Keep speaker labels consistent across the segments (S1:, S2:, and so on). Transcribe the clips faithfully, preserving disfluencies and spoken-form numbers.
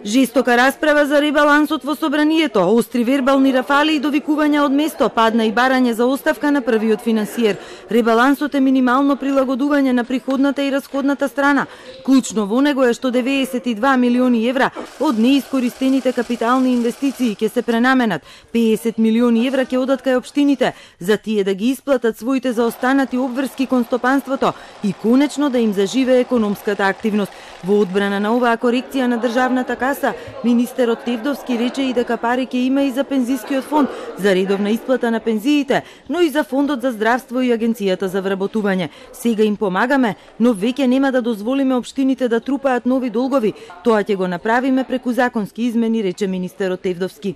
S1: Жестока расправа за ребалансот во собранието, остри вербални рафали и довикувања од место, падна и барање за оставка на првиот финансиер. Ребалансот е минимално прилагодување на приходната и расходната страна. Клучно во него е што деветдесет и два милиони евра од неискористените капитални инвестиции ќе се пренаменат. педесет милиони евра ќе одат кај општините, за тие да ги исплатат своите заостанати обврски кон стопанството и конечно да им заживее економската активност. Во одбрана на оваа корекција на државната каса, министерот Тевдовски рече и дека пари ќе има и за пензискиот фонд, за редовна исплата на пензиите, но и за фондот за здравство и агенцијата за вработување. Сега им помагаме, но веќе нема да дозволиме општините да трупаат нови долгови. Тоа ќе го направиме преку законски измени, рече министерот Тевдовски.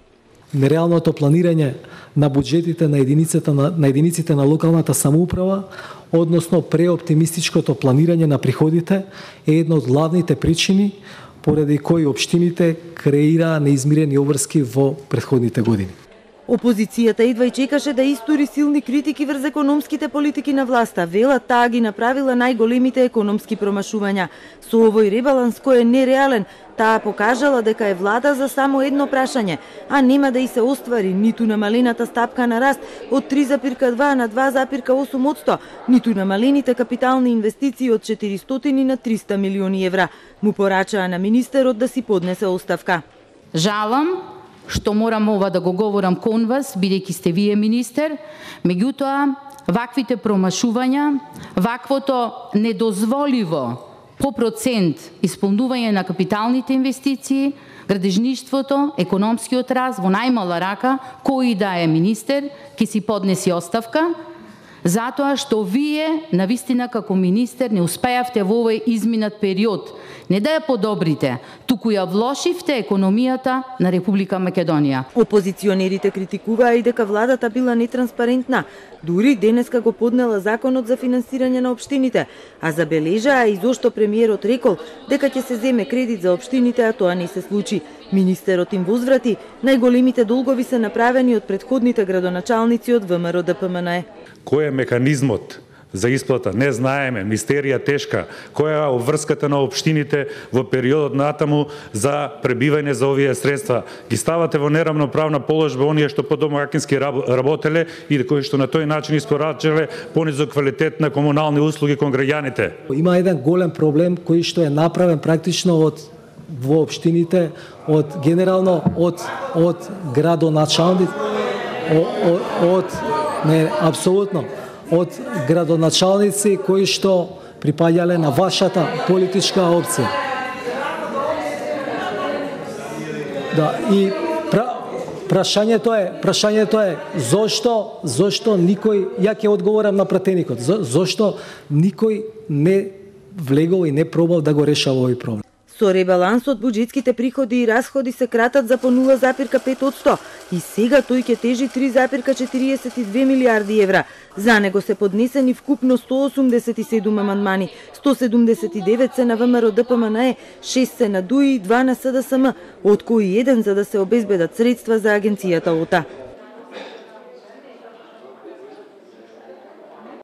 S2: Нереалното планирање на буџетите на единиците на, на единиците на локалната самоуправа, односно преоптимистичкото планирање на приходите, е една од главните причини поради кои општините креираа неизмирени обврски во претходните години.
S1: Опозицијата едва и чекаше да истури силни критики врз економските политики на власта. Велат таа ги направила најголемите економски промашувања. Со овој ребаланс кој е нереален, таа покажала дека е влада за само едно прашање, а нема да и се оствари ниту намалената стапка на раст од три запирка два на два запирка осум одсто, ниту намалените капитални инвестиции од четиристотини на триста милиони евра. Му порачаа на министерот да си поднесе оставка.
S3: Жалам што морам ова да го говорам кон вас, бидејќи сте вие министер, меѓутоа ваквите промашувања, ваквото недозволиво по процент исполнување на капиталните инвестиции, градежништвото, економскиот раст во најмала рака, кој да е министер, ќе си поднеси оставка, затоа што вие, навистина како министер, не успеавте во овој изминат период не да ја подобрите, туку ја влошивте економијата на Република Македонија.
S1: Опозиционерите критикуваа и дека владата била нетранспарентна. Дури денеска го поднела законот за финансирање на општините, а забележаа и зошто премиерот рекол дека ќе се земе кредит за општините, а тоа не се случи. Министерот им возврати, најголемите долгови се направени од претходните градоначалници од ВМРО Д П М Н Е.
S4: Кој е механизмот за исплата? Не знаеме, мистерија тешка. Која е обврската на општините во периодот натаму за пребивање за овие средства? Ги ставате во неравноправна положба оние што подомакински работеле и кои што на тој начин испорачале понизок квалитет на комунални услуги кон граѓаните.
S2: Има еден голем проблем кој што е направен практично од во општините, од генерално од од градоначалници, од, од не апсолутно од градоначалници кои што припаѓале на вашата политичка опција. Да, и пра, прашањето е, прашањето е зошто, зошто никој, ја ќе одговорам на пратеникот, за, зошто никој не влегол и не пробал да го решава овој проблем.
S1: Со ребалансот буџетските приходи и расходи се кратат за по нула запирка пет одсто и сега тој ќе тежи три запирка четириесет и две милијарди евра. За него се поднесени вкупно сто осумдесет и седум амандмани, сто седумдесет и девет се на ВМРО Д П М Н Е, шест се на Д У И и два на С Д С М, од кои еден за да се обезбедат средства за агенцијата О Т А.